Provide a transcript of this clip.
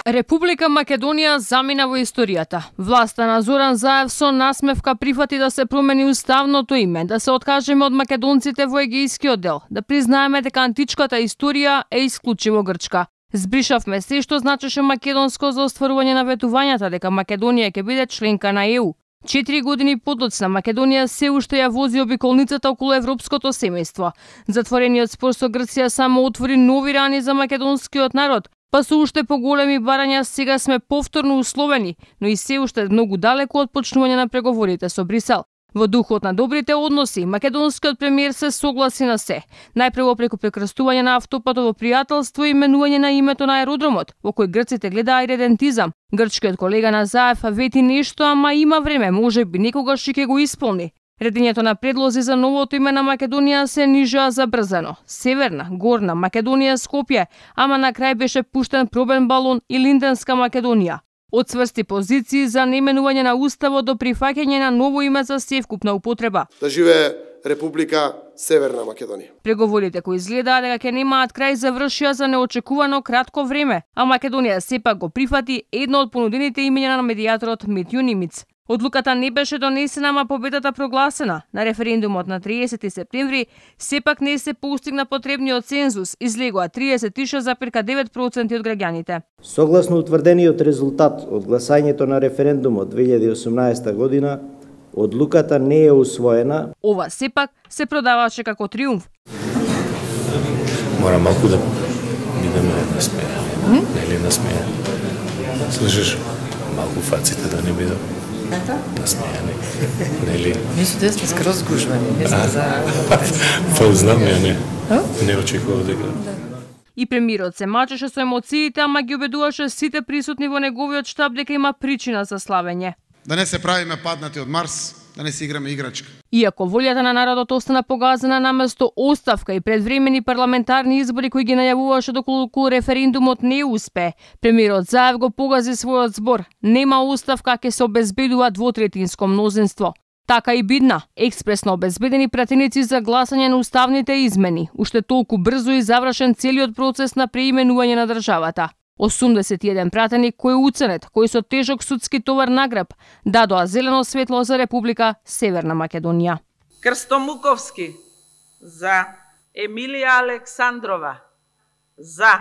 Република Македонија замина во историјата. Власта на Зоран Заев со насмевка прифати да се промени уставното име, да се откажеме од македонците во Егејскиот дел, да признаеме дека античката историја е исклучиво грчка. Збришавме се што значеше македонско за остварување на ветувањата дека Македонија ќе биде членка на ЕУ. 4 години подоцна Македонија се уште ја вози обиколницата околу европското семејство. Затворениот спор со Грција само отвори нови рани за македонскиот народ, па со уште поголеми барања сега сме повторно условени, но и се уште многу далеку од почнување на преговорите со Брисел. Во духот на добрите односи, македонскиот премиер се согласи на се. Најпрво преку прекрстување на автопатово пријателство и именување на името на аеродромот, во кој грците гледаа иредентизам. Грчкиот колега на Заев вети нешто, ама има време, можеби некогаш и ќе го исполни. Редењето на предлози за новото име на Македонија се нижаа забрзано. Северна, Горна Македонија, Скопје, ама на крај беше пуштен пробен балон и Линденска Македонија. Одцврсти позиции за наименување на уставот до прифаќање на ново име за севкупна употреба. Да живее Република Северна Македонија. Преговорите кои изгледаа дека ќе немаат крај завршија за неочекувано кратко време, а Македонија сепак го прифати едно од понудените имења на медијаторот Митју Нимиц. Одлуката не беше донесена, ама победата прогласена. На референдумот на 30 септември сепак не се постигна потребниот цензус, излегоа 36,9% од граѓаните. Согласно утврдениот резултат од гласањето на референдумот 2018 година, одлуката не е усвоена. Ова сепак се продаваше како триумф. Мора малку да бидеме насмеја. Нели насмеја? Слышиш? Малку фаците да не бидат насмејани. Нели? Мислам да сме скроз гужвани, не сме за... Па знам ја не. Не очекував дека. И премиерот се мачеше со емоциите, ама ги убедуваше сите присутни во неговиот штаб дека има причина за славење. Да не се правиме паднати од Марс, да не си играме играчка. Иако волјата на народот остана погазена наместо оставка и предвремени парламентарни избори кои ги најавуваше доколку референдумот не успе, премиерот Заев го погази својот збор. Нема оставка, ќе се обезбедува двотретинско мнозинство. Така и бидна, експресно обезбедени пратеници за гласање на уставните измени, уште толку брзо и завршен целиот процес на преименување на државата. 81 пратеник кој уценет, кој со тежок судски товар на грб, дадоа зелено светло за Република Северна Македонија. Крстомуковски за Емилија Александрова, за